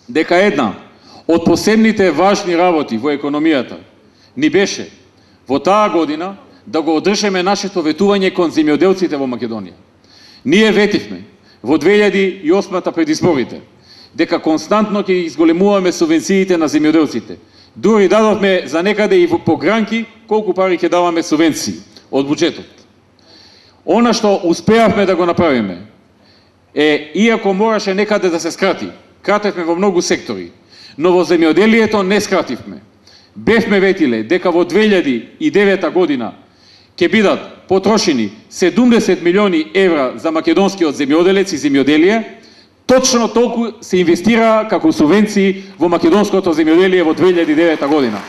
дека една од посебните важни работи во економијата ни беше во таа година да го одржиме нашето ветување кон земјоделците во Македонија. Ние ветивме во 2008 пред изборите дека константно ќе изголемуваме субвенциите на земјоделците. Дури дадовме за некаде и по гранки колку пари ќе даваме субвенции од буџетот. Она што успеавме да го направиме е, иако мораше некаде да се скрати, кратевме во многу сектори, но во земјоделието не скративме. Бевме ветиле дека во 2009 година ќе бидат потрошени 70 милиони евра за македонскиот земјоделец и земјоделие, точно толку се инвестира како субвенции во македонското земјоделие во 2009 година.